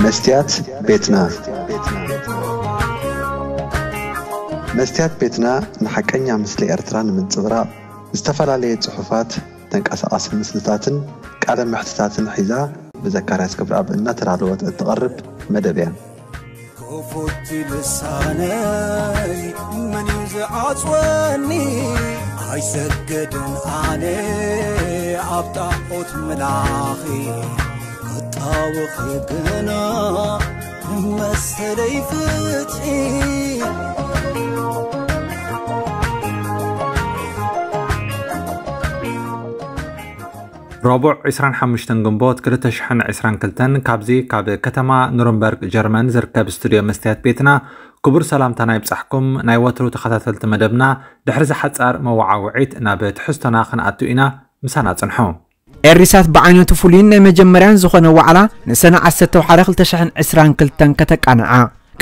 መስትያት ቤትና። መስትያት ቤትና ንሓቀኛ ምስሊ ኤርትራ ንምንጽብራቕ ዝተፈላለየ ጽሑፋት፣ ተንቀሳቓሲ ምስልታትን ቃለ መሕትታትን ሒዛ ብዘካርያስ ገብረኣብ እናተዳለወት እትቐርብ መደብ እያ። ክፉት ልሳነይ መን እዩ ዝዓጽወኒ? ኣይሰግድን ኣነ ኣብ ጣዖት ምላኺ፣ ክጣወኺ ግና መሰለይ ፍትሒ። ረቡዕ ዕስራን ሓሙሽተን ግንቦት ክልተ ሽሕን ዕስራን ክልተን ካብዚ ካብ ከተማ ኑርንበርግ ጀርመን ዝርከብ ስቱድዮ መስትያት ቤትና ክቡር ሰላምታና ይብጻሕኩም። ናይ ወትሩ ተኸታተልቲ መደብና ድሕሪ ዝሓጻር መወዓውዒት ናብ ትሕዝቶና ክንኣቱ ኢና። ምሳና ጽንሑ። ኤሪሳት ብዓይነቱ ፍሉይን ናይ መጀመርያን ዝኾነ ዋዕላ ንሰነ ዓሰርተ ሓደ ክልተ ሽሕን ዕስራን ክልተን ከተቃንዓ።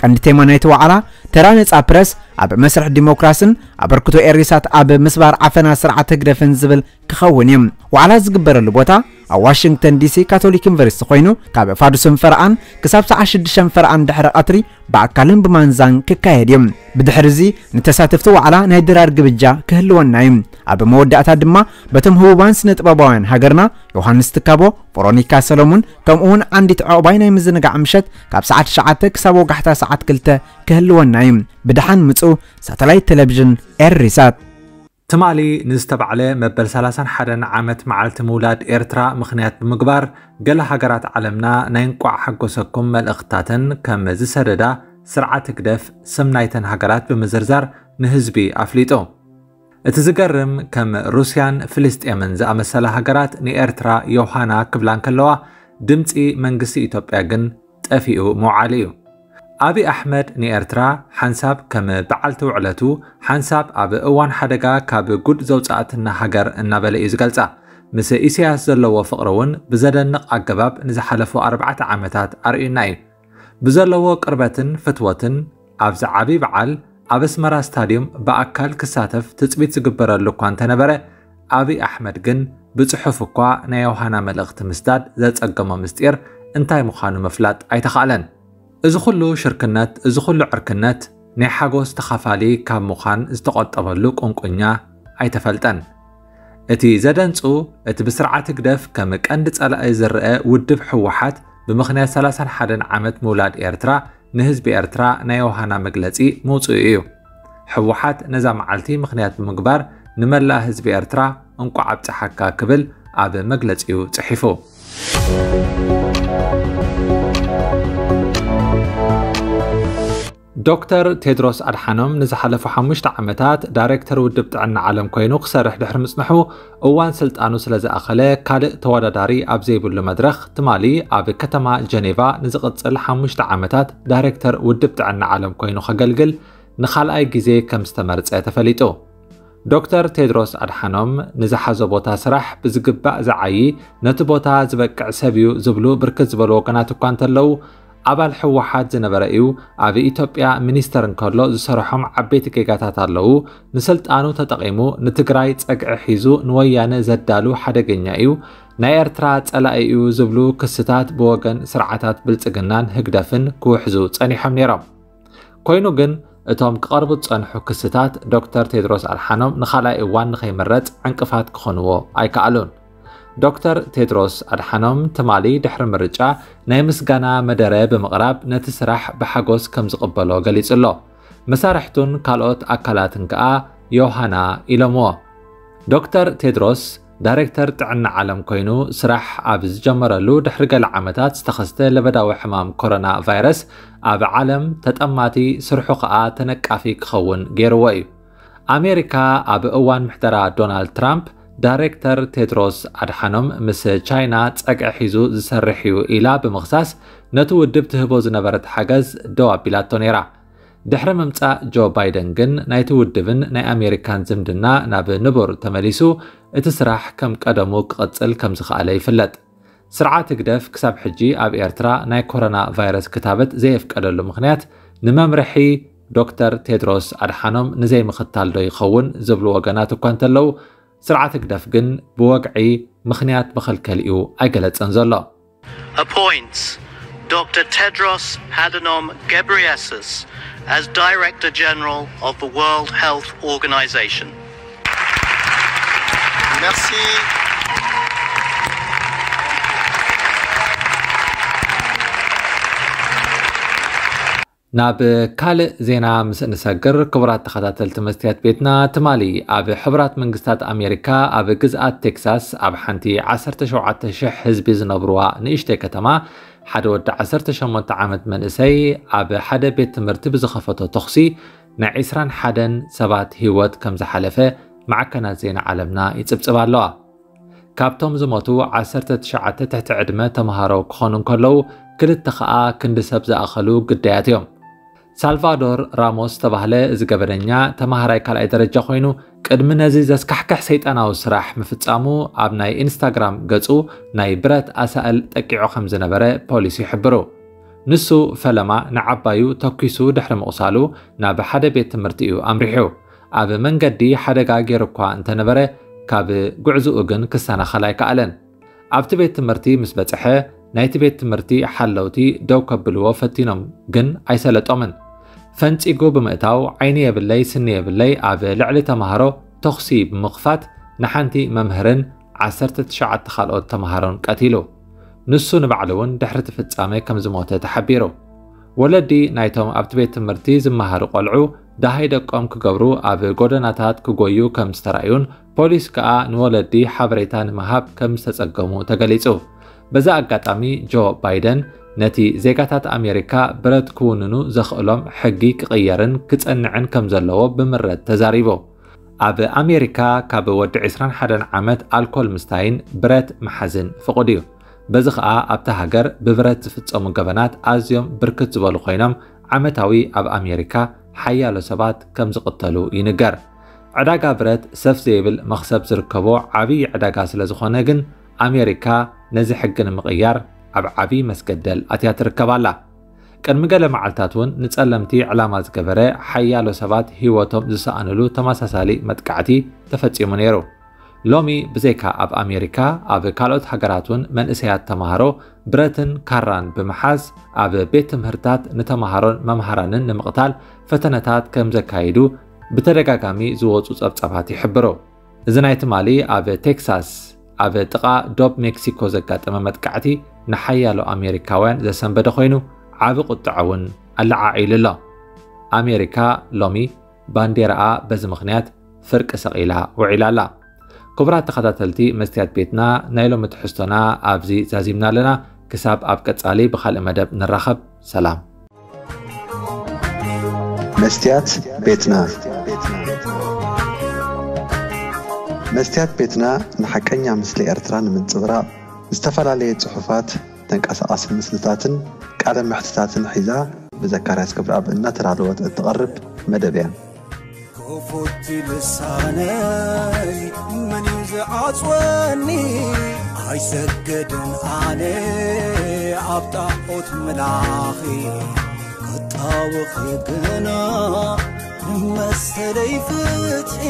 ቀንዲ ቴማ ናይቲ ዋዕላ ተራ ነጻ ፕረስ ኣብ መስርሕ ዲሞክራስን ኣበርክቶ ኤሪሳት ኣብ ምስባር ዓፈና ስርዓት ህግደፍን ዝብል ክኸውን እዩ። ዋዕላ ዝግበረሉ ቦታ ኣብ ዋሽንግተን ዲሲ ካቶሊክ ዩኒቨርሲቲ ኮይኑ ካብ ፋዱስን ፈርኣን ክሳብ ሰዓት ሽዱሽተን ፈርኣን ድሕሪ ቀትሪ ብኣካልን ብማንዛን ክካየድ እዩ። ብድሕሪ እዚ ንተሳተፍቲ ዋዕላ ናይ ድራር ግብጃ ክህልወና እዩ። ኣብ መወዳእታ ድማ በቶም ህቡባን ስነ ጥበባውያን ሃገርና ዮሃንስ ትካቦ፣ ቨሮኒካ ሰሎሙን ከምኡ እውን ዓንዲት ዕቑባይ ናይ ምዝንጋዕ ምሸት ካብ ሰዓት ትሽዓተ ክሳብ ወጋሕታ ሰዓት ክልተ ክህልወና እዩ። ብደሓን ምጹ። ሳተላይት ቴሌቪዥን ኤሪሳት። ትማሊ ንዝተባዕለ መበል ሰላሳን ሓደን ዓመት መዓልቲ ምውላድ ኤርትራ ምኽንያት ብምግባር ገለ ሃገራት ዓለምና ናይ እንቋዕ ሓጎሰኩም መልእኽትታተን ከም ዝሰደዳ ስርዓት ህግደፍ ስም ናይተን ሃገራት ብምዝርዛር ንህዝቢ ኣፍሊጡ። እቲ ዝገርም ከም ሩስያን ፍልስጤምን ዝኣመሰላ ሃገራት ንኤርትራ ዮሃና ክብላ እንከለዋ ድምጺ መንግስቲ ኢትዮጵያ ግን ጠፊኡ ምውዓሉ እዩ። ኣብይ ኣሕመድ ንኤርትራ ሓንሳብ ከም በዓልቲ ውዕለቱ ሓንሳብ ኣብ እዋን ሓደጋ ካብ ጉድ ዘውጻእትና ሃገር እናበለ እዩ ዝገልጻ። ምስ ኢሳያስ ዘለዎ ፍቕሪ እውን ብዘደንቕ ኣገባብ ንዝሓለፉ ኣርባዕተ ዓመታት ኣርእዩና እዩ። ብዘለዎ ቅርበትን ፍትወትን ኣብዚ ዓቢ በዓል ኣብ ኣስመራ ስታድዩም ብኣካል ክሳተፍ ትጽቢት ዝግበረሉ እኳ እንተነበረ ኣብይ ኣሕመድ ግን ብጽሑፍ እኳ ናይ ዮሃና መልእኽቲ ምስዳድ ዘጸገሞ ምስጢር እንታይ ምዃኑ ምፍላጥ ኣይተኻእለን። እዚ ኩሉ ሽርክነት፣ እዚ ኩሉ ዕርክነት ናይ ሓጎስ ተኻፋሊ ካብ ምዃን ዝተቖጠበሉ ቁንቁኛ ኣይተፈልጠን። እቲ ዘደንጹ እቲ ብስርዓት ህግደፍ ከም ቀንዲ ጸላኢ ዝረአ ውድብ ህወሓት ብምኽንያት ሰላሳን ሓደን ዓመት ምውላድ ኤርትራ ንህዝቢ ኤርትራ ናይ ዮሃና መግለጺ ምውጽኡ እዩ። ህወሓት ነዛ መዓልቲ ምኽንያት ብምግባር ንመላእ ህዝቢ ኤርትራ እንቋዕ ኣብጽሓካ ክብል ኣብ መግለጺኡ ጽሒፉ። ዶክተር ቴድሮስ ኣድሓኖም ንዝሓለፉ ሓሙሽተ ዓመታት ዳይሬክተር ውድብ ጥዕና ዓለም ኮይኑ ክሰርሕ ድሕሪ ምጽንሑ እዋን ስልጣኑ ስለ ዝኣኸለ ካልእ ተወዳዳሪ ኣብ ዘይብሉ መድረኽ ትማሊ ኣብ ከተማ ጀኔቫ ንዝቕጽል ሓሙሽተ ዓመታት ዳይሬክተር ውድብ ጥዕና ዓለም ኮይኑ ከገልግል ንኻልኣይ ግዜ ከም ዝተመርጸ ተፈሊጡ። ዶክተር ቴድሮስ ኣድሓኖም ንዝሓዞ ቦታ ስራሕ ብዝግባእ ዝዓዪ፣ ነቲ ቦታ ዝበቅዕ ሰብ እዩ ዝብሉ ብርክት ዝበሉ ወገናት እኳ እንተለዉ፣ ኣባል ህወሓት ዝነበረ እዩ። ኣብ ኢትዮጵያ ሚኒስተር እንከሎ ዝሰርሖም ዓበይቲ ጌጋታት ኣለዉ። ንስልጣኑ ተጠቒሙ ንትግራይ ጸግዒ ሒዙ ንወያነ ዘዳሉ ሓደገኛ እዩ። ናይ ኤርትራ ጸላኢ እዩ ዝብሉ ክስታት ብወገን ስርዓታት ብልጽግናን ህግደፍን ክውሕዙ ጸኒሖም ነይሮም። ኮይኑ ግን እቶም ክቐርቡ ዝጸንሑ ክስታት ዶክተር ቴድሮስ ኣድሓኖም ንኻልኣይ እዋን ንኸይምረጽ ዕንቅፋት ክኾንዎ ኣይከኣሉን። ዶክተር ቴድሮስ ኣድሓኖም ትማሊ ድሕሪ ምርጫ ናይ ምስጋና መደረ ብምቕራብ ነቲ ስራሕ ብሓጎስ ከም ዝቕበሎ ገሊጹ ኣሎ። መሳርሕቱን ካልኦት ኣካላትን ከኣ ዮሃና ኢሎምዎ። ዶክተር ቴድሮስ ዳይሬክተር ጥዕና ዓለም ኮይኑ ስራሕ ኣብ ዝጀመረሉ ድሕሪ ገለ ዓመታት ዝተኸስተ ለበዳዊ ሕማም ኮሮና ቫይረስ ኣብ ዓለም ተጠማቲ ስርሑ ከኣ ተነቃፊ ክኸውን ገይርዎ እዩ። ኣሜሪካ ኣብ እዋን ምሕደራ ዶናልድ ትራምፕ ዳይሬክተር ቴድሮስ ኣድሓኖም ምስ ቻይና ጸግዒ ሒዙ ዝሰርሕ እዩ ኢላ ብምኽሳስ ነቲ ውድብ ትህቦ ዝነበረት ሓገዝ ደው ኣቢላቶ ነይራ። ድሕሪ ምምጻእ ጆ ባይደን ግን ናይቲ ውድብን ናይ ኣሜሪካን ዝምድና ናብ ንቡር ተመሊሱ እቲ ስራሕ ከም ቀደሙ ክቕጽል ከም ዝኸኣለ ይፍለጥ። ስርዓት ህግደፍ ክሳብ ሕጂ ኣብ ኤርትራ ናይ ኮሮና ቫይረስ ክታበት ዘየፍቀደሉ ምኽንያት ንመምርሒ ዶክተር ቴድሮስ ኣድሓኖም ንዘይምኽታል ዶ ይኸውን ዝብሉ ወገናት እኳ እንተለዉ፣ ስርዓት ህግደፍ ግን ብወግዒ ምኽንያት መኸልከሊኡ ኣይገለጸን ዘሎ። appoints Doctor Tedros Adhanom Ghebreyesus as Director General of the World Health Organization. Merci. ናብ ካልእ ዜና ምስ እንሰግር፣ ክቡራት ተኸታተልቲ መስትያት ቤትና፣ ትማሊ ኣብ ሕቡራት መንግስታት ኣሜሪካ ኣብ ግዝኣት ቴክሳስ ኣብ ሓንቲ ዓሰርተ ሸውዓተ ሽሕ ህዝቢ ዝነብርዋ ንእሽተይ ከተማ ሓደ ወዲ ዓሰርተ ሸሞንተ ዓመት መንእሰይ ኣብ ሓደ ቤት ትምህርቲ ብዝኸፈቶ ተኹሲ ናይ ዕስራን ሓደን ሰባት ህይወት ከም ዝሓለፈ ማዕከናት ዜና ዓለምና ይጽብጽባ ኣለዋ። ካብቶም ዝሞቱ ዓሰርተ ትሽዓተ ትሕቲ ዕድመ ተምሃሮ ክኾኑ እንከለዉ፣ ክልተ ኸኣ ክንዲ ሰብ ዝኣኸሉ ግዳያት እዮም። ሳልቫዶር ራሞስ ዝተባህለ እዚ ገበነኛ ተምሃራይ ካልኣይ ደረጃ ኮይኑ፣ ቅድሚ ነዚ ዘስካሕክሕ ሰይጣናዊ ስራሕ ምፍጻሙ ኣብ ናይ ኢንስታግራም ገጹ ናይ ብረት ኣሳእል ጠቂዑ ከም ዝነበረ ፖሊስ ይሕብሩ። ንሱ ፈለማ ንዓባዩ ተኲሱ ድሕሪ ምቑሳሉ ናብ ሓደ ቤት ትምህርቲ እዩ ኣምሪሑ። ኣብ መንገዲ ሓደጋ ገይሩ እኳ እንተነበረ፣ ካብ ጉዕዝኡ ግን ክሰናኸል ኣይከኣለን። ኣብቲ ቤት ትምህርቲ ምስ በጽሐ፣ ናይቲ ቤት ትምህርቲ ሓለውቲ ደው ከብልዎ ፈቲኖም፣ ግን ኣይሰለጦምን። ፈንጺጉ ብምእታው፣ ዓይኒ የብለይ ስኒ የብለይ ኣብ ልዕሊ ተምሃሮ ተኹሲ ብምኽፋት፣ ንሓንቲ መምህርን ዓሰርተ ትሽዓተ ካልኦት ተምሃሮን ቀቲሉ። ንሱ ንባዕሉ እውን ድሕሪ እቲ ፍጻመ ከም ዝሞተ ተሓቢሩ። ወለዲ ናይቶም ኣብቲ ቤት ትምህርቲ ዝመሃሩ ቆልዑ ደሃይ ደቆም ክገብሩ ኣብ ጎደናታት ክጎዩ ከም ዝተራእዩን ፖሊስ ከኣ ንወለዲ ሓበሬታ ንምሃብ ከም ዝተጸገሙ ተገሊጹ። በዚ ኣጋጣሚ ጆ ባይደን ነቲ ዜጋታት ኣሜሪካ ብረት ክውንኑ ዘኽእሎም ሕጊ ክቕየርን ክጸንዕን ከም ዘለዎ ብምረት ተዛሪቡ። ኣብ ኣሜሪካ ካብ ወዲ ዕስራን ሓደን ዓመት ኣልኮል ምስታይን ብረት ምሓዝን ፍቑድ እዩ። በዚ ኸኣ ኣብታ ሃገር ብብረት ዝፍጸሙ ገበናት ኣዝዮም ብርክት ዝበሉ ኮይኖም ዓመታዊ ኣብ ኣሜሪካ ሓያሎ ሰባት ከም ዝቕተሉ ይንገር። ዕዳጋ ብረት ሰፍ ዘይብል መኽሰብ ዝርከቦ ዓብዪ ዕዳጋ ስለ ዝኾነ ግን ኣሜሪካ ነዚ ሕጊ ንምቕያር ኣብ ዓብዪ መስገደል ኣትያ ትርከብ ኣላ። ቅድሚ ገለ መዓልታት እውን ንጸለምቲ ዕላማ ዝገበረ ሓያሎ ሰባት ህይወቶም ዝሰኣንሉ ተመሳሳሊ መጥቃዕቲ ተፈጺሙ ነይሩ። ሎሚ ብዘይካ ኣብ ኣሜሪካ ኣብ ካልኦት ሃገራት እውን መንእሰያት ተምሃሮ ብረትን ካራን ብምሓዝ ኣብ ቤት ትምህርታት ንተምሃሮን መምሃራንን ንምቕታል ፈተነታት ከም ዘካይዱ ብተደጋጋሚ ዝወጹ ጸብጻባት ይሕብሩ። እዚ ናይ ትማሊ ኣብ ቴክሳስ ኣብ ጥቓ ዶብ ሜክሲኮ ዘጋጠመ መጥቃዕቲ ንሓያሎ ኣሜሪካውያን ዘሰንበደ ኮይኑ ዓቢ ቁጥዐ እውን ኣለዓዒሉ ኣሎ። ኣሜሪካ ሎሚ ባንዴራኣ በዚ ምኽንያት ፍርቂ ሰቒላ ውዒላ ኣላ። ክቡራት ተኸታተልቲ መስትያት ቤትና ናይ ሎሚ ትሕዝቶና ኣብዚ ዛዚምና ኣለና። ክሳብ ኣብ ቀጻሊ ብኻልእ መደብ ንራኸብ። ሰላም። መስትያት ቤትና መስትያት ቤትና ንሓቀኛ ምስሊ ኤርትራ ንምንጽብራቕ ዝተፈላለየ ጽሑፋት፣ ተንቀሳቓሲ ምስልታትን ቃለ መሕትታትን ሒዛ ብዘካርያስ ገብረኣብ እናተዳለወት እትቐርብ መደብ እያ። ክፉት ልሳነይ መን እዩ ዝዓጽወኒ? ኣይሰግድን ኣነ ኣብ ጣዖት ምላኺ ክጣወኺ ግና ንመሰለይ ፍትሒ